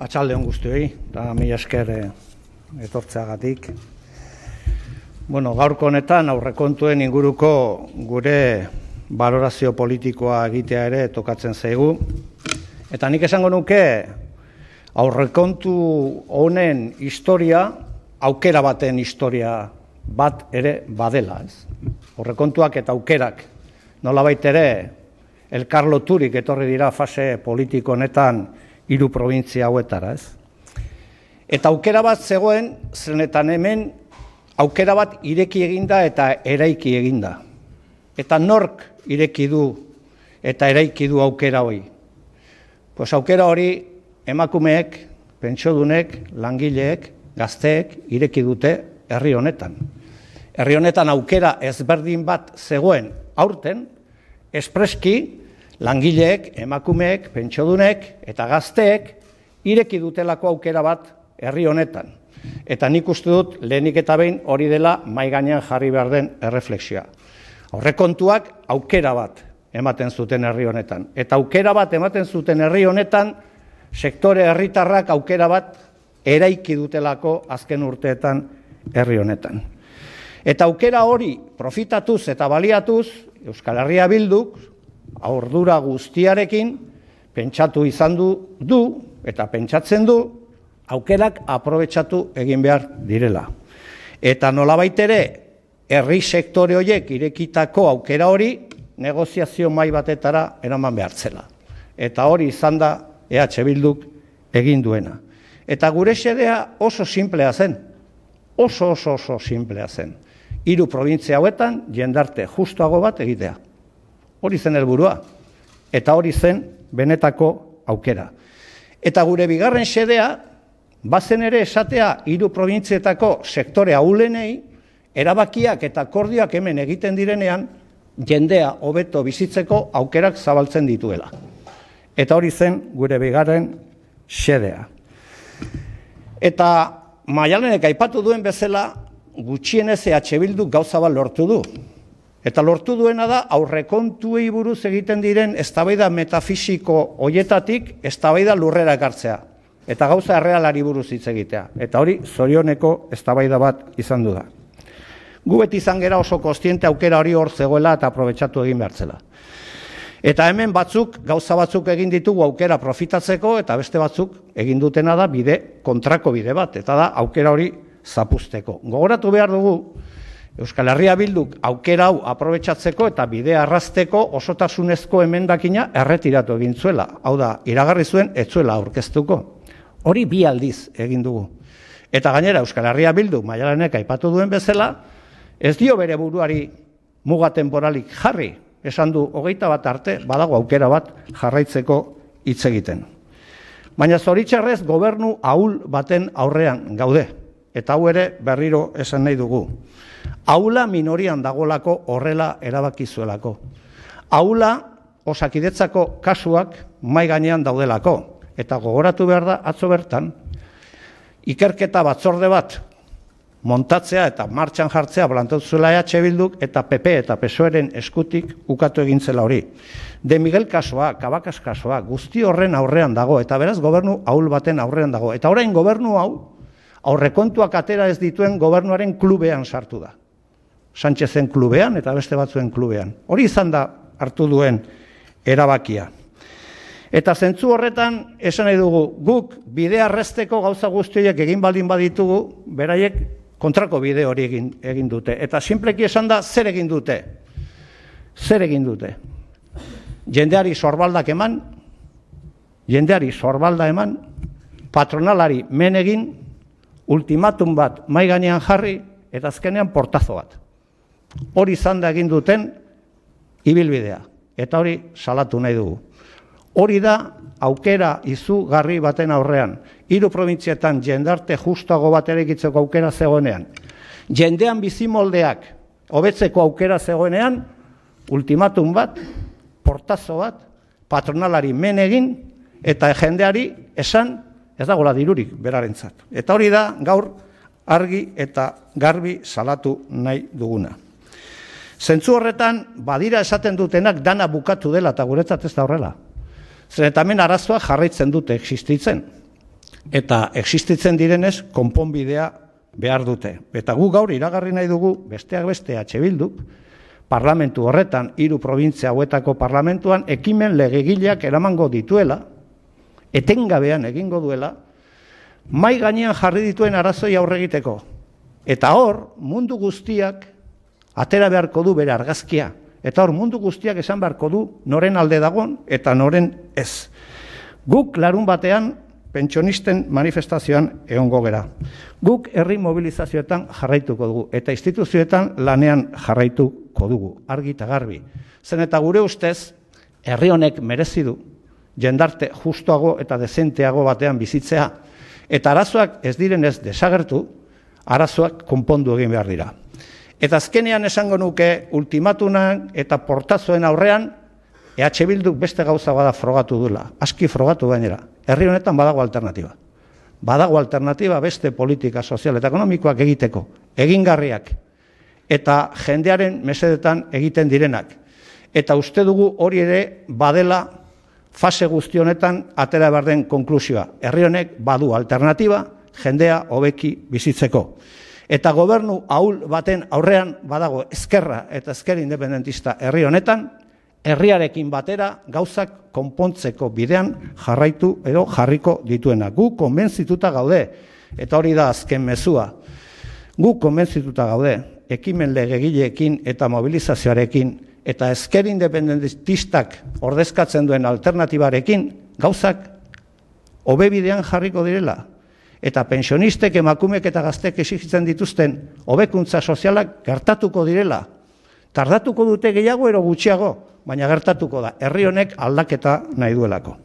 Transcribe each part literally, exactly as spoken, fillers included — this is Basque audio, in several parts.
Atxaldeon guztioi, eta mila esker etortzeagatik. Bueno, gaurko honetan aurrekontuen inguruko gure balorazio politikoa egitea ere tokatzen zaigu. Eta nik esango nuke aurrekontu honen historia, aukera baten historia bat ere badela. Ez? Aurrekontuak eta aukerak nolabait ere elkar loturik etorri dira fase politiko honetan hiru probintzia hauetara, ez? Eta aukera bat zegoen, zenetan hemen aukera bat ireki eginda eta eraiki eginda. Eta nork ireki du eta eraiki du aukera hori? Pues aukera hori emakumeek, pentsiodunek, langileek, gazteek ireki dute herri honetan. Herri honetan aukera ezberdin bat zegoen aurten, espreski langileek, emakumeek, pentsiodunek eta gazteek ireki dutelako aukera bat herri honetan. Eta nik uste dut lehenik eta behin hori dela mahai gainean jarri behar den erreflexioa. Aurrekontuak aukera bat ematen zuten herri honetan. Eta aukera bat ematen zuten herri honetan, sektore herritarrak aukera bat eraiki dutelako azken urteetan herri honetan. Eta aukera hori profitatuz eta baliatuz, Euskal Herria Bilduk, ordura guztiarekin, pentsatu izan du, du eta pentsatzen du, aukerak aprobetxatu egin behar direla. Eta nolabait ere, herri sektore horiek irekitako aukera hori, negoziazio mai batetara eraman behartzela. Eta hori izan da E H Bilduk egin duena. Eta gure xedea oso simplea zen, oso oso oso simplea zen. Hiru probintzia hauetan jendarte justuago bat egitea. Hori zen helburua, eta hori zen benetako aukera. Eta gure bigarren xedea, bazen ere esatea hiru probintzietako sektore ahulenei, erabakiak eta akordioak hemen egiten direnean, jendea hobeto bizitzeko aukerak zabaltzen dituela. Eta hori zen gure bigarren xedea. Eta Maialenek aipatu duen bezala, gutxienez E H Bilduk gauza bat lortu du. Eta lortu duena da aurrekontuei buruz egiten diren eztabaida metafisiko hoietatik eztabaida lurrera ekartzea. Eta gauza errealari buruz hitz egitea. Eta hori zorioneko eztabaida bat izan du da. Gu beti izan gera oso kontziente aukera hori hor zegoela eta aprobetxatu egin behartzela. Eta hemen batzuk, gauza batzuk egin ditugu aukera profitatzeko eta beste batzuk egin dutena da bide, kontrako bide bat. Eta da aukera hori zapuzteko. Gogoratu behar dugu, Euskal Herria Bilduk aukera hau aprobetxatzeko eta bidea arrazteko osotasunezko emendakina erretiratu egin zuela. Hau da, iragarri zuen ez zuela aurkeztuko. Hori bi aldiz egin dugu. Eta gainera Euskal Herria Bilduk Maialenek aipatu duen bezala, ez dio bere buruari muga temporalik jarri. Esan du hogeita bat arte, badago aukera bat jarraitzeko hitz egiten. Baina zoritxarrez gobernu ahul baten aurrean gaude. Eta hau ere berriro esan nahi dugu. Aula minorian dagolako horrela erabaki zuelako. Aula Osakidetzako kasuak mai gainean daudelako. Eta gogoratu behar da atzo bertan, ikerketa batzorde bat montatzea eta martxan jartzea plantatu zuela E H Bilduk eta P P eta P S O E-ren eskutik ukatu egintzela hori. De Miguel kasua, Kabakaz kasua, guzti horren aurrean dago eta beraz gobernu ahul baten aurrean dago. Eta orain gobernu hau aurrekontuak atera ez dituen gobernuaren klubean sartu da. Sánchezen klubean eta beste batzuen klubean. Hori izan da hartu duen erabakia. Eta zentzu horretan esan nahi dugu, guk bidea arresteko gauza guztiak egin baldin baditugu, beraiek kontrako bide hori egin, egin dute. Eta sinpleki esan da, zer egin dute? Zer egin dute? Jendeari sorbaldak eman, jendeari sorbalda eman, patronalari men egin, ultimatum bat mai gainean jarri, eta azkenean portazo bat. Hori izan da egin duten ibilbidea. Eta hori salatu nahi dugu. Hori da aukera izugarri baten aurrean. Hiru probintzietan jendarte justuago bat eraikitzeko aukera zegoenean. Jendean bizimoldeak hobetzeko aukera zegoenean, ultimatum bat, portazo bat, patronalari men egin, eta jendeari esan ez dagoela dirurik berarentzat. Eta hori da gaur argi eta garbi salatu nahi duguna. Zentzu horretan, badira esaten dutenak dana bukatu dela eta guretzat ez da horrela. Zer eta hemen arazoa jarraitzen dute existitzen. eta existitzen direnez konponbidea behar dute. Eta gu gaur iragarri nahi dugu, besteak beste H Bilduk, parlamentu horretan, hiru probintzia hauetako parlamentuan, ekimen legegileak eramango dituela, etengabean egingo duela, mai gainean jarri dituen arazoi aurre egiteko. Eta hor, mundu guztiak atera beharko du bere argazkia. Eta hor, mundu guztiak esan beharko du noren alde dagoen eta noren ez. Guk larun batean pentsionisten manifestazioan egongo gera. Guk herri mobilizazioetan jarraituko dugu eta instituzioetan lanean jarraituko dugu, argi eta garbi. Zen eta gure ustez, herri honek merezi du jendarte justuago eta dezenteago batean bizitzea. Eta arazoak ez direnez desagertu, arazoak konpondu egin behar dira. Eta azkenean esango nuke ultimatunan eta portazoen aurrean E H Bilduk beste gauza bada frogatu duela, aski frogatu gainera. Herri honetan badago alternatiba. Badago alternatiba beste politika sozial eta ekonomikoak egiteko, egingarriak, eta jendearen mesedetan egiten direnak. Eta uste dugu hori ere badela fase guzti honetan atera behar den konklusioa. Herri honek badu alternatiba, jendea hobeki bizitzeko. Eta gobernu ahul baten aurrean badago ezkerra eta ezker independentista herri honetan, herriarekin batera gauzak konpontzeko bidean jarraitu edo jarriko dituena. Gu konbentzituta gaude, eta hori da azken mezua. Gu konbentzituta gaude, ekimen legegileekin eta mobilizazioarekin, eta ezker independentistak ordezkatzen duen alternatibarekin, gauzak hobe bidean jarriko direla. Eta pensionistek, emakumeek eta gaztek exigitzen dituzten hobekuntza sozialak gertatuko direla. Tardatuko dute gehiago ero gutxiago, baina gertatuko da, herri honek aldaketa nahi duelako.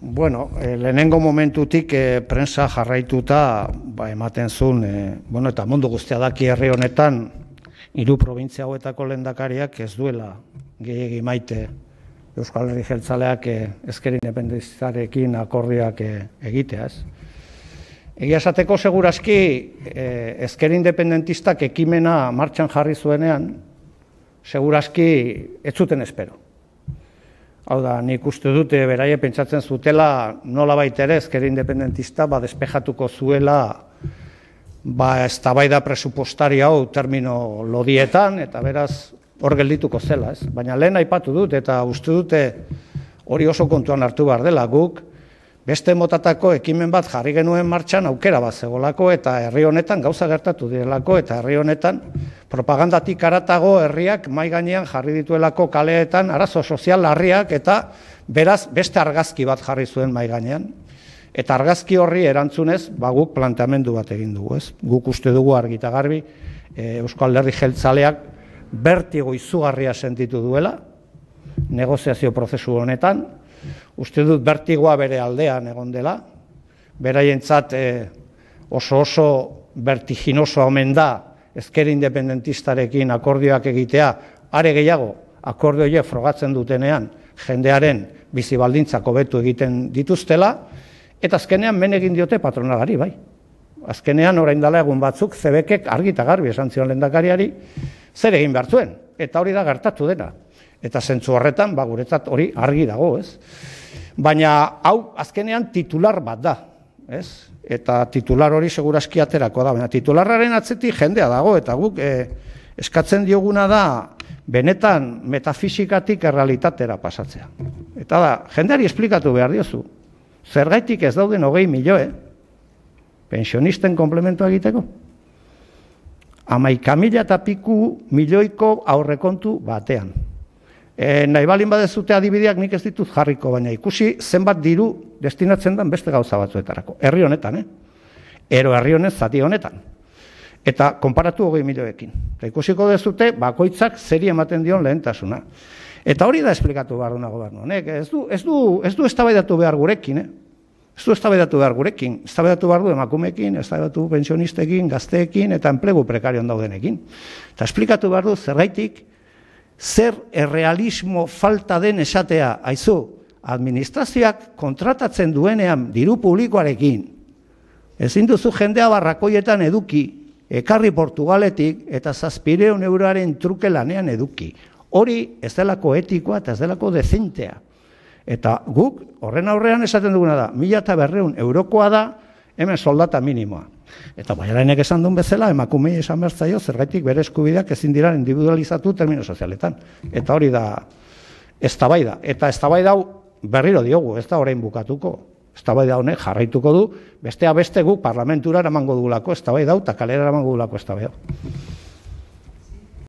Bueno, eh, lehenengo momentutik eh, prensa jarraituta ba, ematen zuen, eh, bueno, eta mundu guztia daki herri honetan, hiru probintzia hauetako lehendakariak ez duela gehiegi maite Euskal Herri Jeltzaleak eh, ezker independentistarekin akordioak eh, egitea, ez? Egia esateko segurazki eh, ezker independentistak ekimena martxan jarri zuenean, segurazki ez zuten espero. Hau da, nik uste dute beraie pentsatzen zutela nola baitere ezker independentista ba despejatuko zuela ba eztabaida presupuestaria hau termino lodietan eta beraz hor geldituko zela, ez? Baina lehen aipatu dut eta uste dute hori oso kontuan hartu behar dela guk beste motatako ekimen bat jarri genuen martxan aukera bat zegolako eta herri honetan gauza gertatu direlako eta herri honetan propagandatik haratago herriak mai gainean jarri dituelako kaleetan arazo sozial larriak eta beraz beste argazki bat jarri zuen mai gainean. Eta argazki horri erantzunez ba guk planteamendu bat egin dugu, ez? Guk uste dugu argi eta garbi e, Euskal Herri Jeltzaleak bertigo izugarria sentitu duela negoziazio prozesu honetan. Uste dut bertigoa bere aldean egon dela, beraientzat eh, oso oso vertiginoso omen da ezker independentistarekin akordioak egitea, are gehiago akordio horiek frogatzen dutenean jendearen bizi baldintzak hobetu egiten dituztela, eta azkenean men egin diote patronalari, bai. Azkenean orain dela egun batzuk Zebekek argi eta garbi esan zion lehendakariari zer egin behar zuen, eta hori da gertatu dena. Eta zentzu horretan, ba, guretzat hori argi dago, ez? Baina hau azkenean titular bat da, ez? Eta titular hori segurazki aterako da, baina titularraren atzetik jendea dago, eta guk eh, eskatzen dioguna da benetan metafisikatik errealitatera pasatzea. Eta da, jendeari esplikatu behar diozu, zergaitik ez dauden hogei milioe, pensionisten komplementua egiteko? Hamaika mila eta piku milioiko aurrekontu batean. E, nahi balin badezute adibideak nik ez ditut jarriko, baina ikusi zenbat diru destinatzen den beste gauza batzuetarako. Herri honetan, eh? Ero herri honez zati honetan. Eta konparatu hogei milioekin. Eta ikusiko dezute bakoitzak zeri ematen dion lehentasuna. Eta hori da esplikatu behar duna gobernu honek. Ez du, ez du, ez du eztabaidatu behar gurekin, eh? Ez du eztabaidatu behar gurekin. Eztabaidatu behar du emakumeekin, eztabaidatu pensionistekin, gazteekin eta enplegu prekarion daudenekin. Eta esplikatu behar du zergaitik zer errealismo falta den esatea, aizu, administrazioak kontratatzen duenean diru publikoarekin, ezin duzu jendea barrakoietan eduki, ekarri Portugaletik eta zazpireun euroaren truke lanean eduki. Hori ez delako etikoa eta ez delako dezentea. Eta guk, horren aurrean esaten duguna da, mila eta berreun eurokoa da, hemen soldata minimoa. Eta Bollareinek esan duen bezala, emakumei esan behar zaio, zergaitik bere eskubideak ezin dira individualizatu termino sozialetan. Eta hori da, eztabaida. Eta eztabaida hau berriro diogu, ez da orain bukatuko. Eztabaida honek jarraituko du, bestea beste guk parlamentura eramango dugulako eztabaida hau, eta kalera eramango dugulako eztabaida hau.